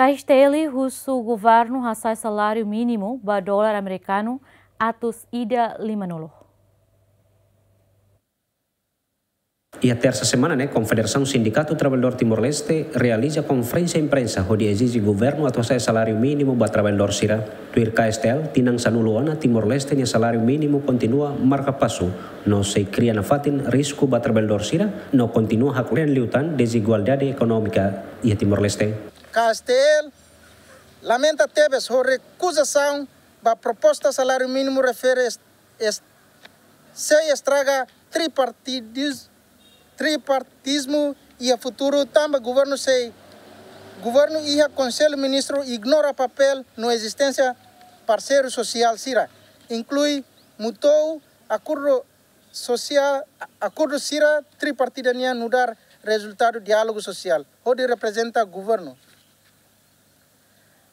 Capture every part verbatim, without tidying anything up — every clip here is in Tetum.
K S T L husu governu hasa'e saláriu mínimu ba dolar amerikanu atus ida lima-nulu. Iha tersa semana ne'e, Konfederasaun Sindikatu Trabalhadór Timor-Leste realiza konferénsia imprensa hodi ezije governu atu hasa'e saláriu mínimu ba trabalhadór sira. Tuir K S T L, tinan sanulu ona Timor-Leste nia saláriu mínimu kontinua marka pasu, no sei kria nafatin risku ba trabalhadór sira, no kontinua haklean liután dezigualdade ekonómika iha Timor-Leste. K S T L lamenta tebes ho rekuzasaun ba proposta saláriu mínimu refere es-, es-, sei estraga tripartidis-, tripartizmu iha futuru, tanba governu sei, governu iha Konsellu Ministru ignora papél no ezisténsia parseiru sosiál sira, inklui MUTOU, akordu sosiál, akordu sira tripartida nian nu'udar rezultadu diálogu sosiál, hodi reprezenta governu.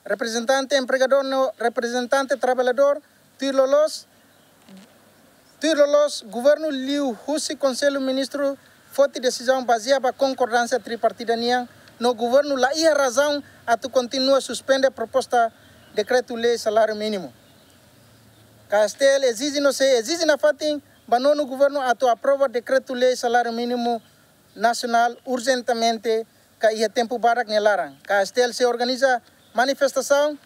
Reprezentante empregadór no reprezentante trabalhadór, tuir loloos, tuir loloos governu liuhusi Konsellu Ministru foti desizaun bazeia ba konkordánsia tripartida nian, no governu la iha razaun atu kontinua suspende proposta dekretu-lei saláriu mínimu. K S T L ezije no sei ezije nafatin ba nonu governu atu aprova dekretu-lei saláriu mínimu nasionál urjentemente, ka iha tempu badak nia laran. K S T L sei organiza manifestasaun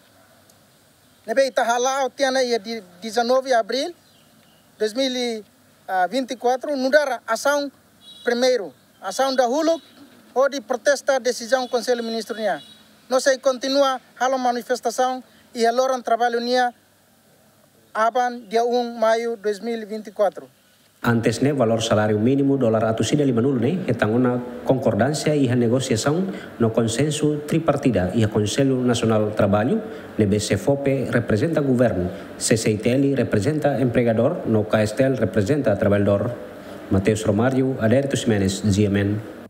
ne'ebé ita hala'o tiha ona iha di, dezanove de abril dois mil e vinte e quatro, nu'udar asaun primeiru, asaun dahuluk, hodi protesta desizaun Konsellu Ministru nian. No sei kontinua halo manifestasaun iha loron traballu nian, aban, dia um maiu dois mil e vinte e quatro. Antes ne'e, valór saláriu mínimu dolar atus ida lima-nulu ne'e hetan ona konkordánsia iha negosiasaun no konsensu tripartida iha Konsellu Nasionál Traballu, ne'ebé SEFOPE reprezenta governu, C C I T L reprezenta empregadór, no K S T L reprezenta trabalhadór. Mateus Romário, Adérito Ximenes, G M N.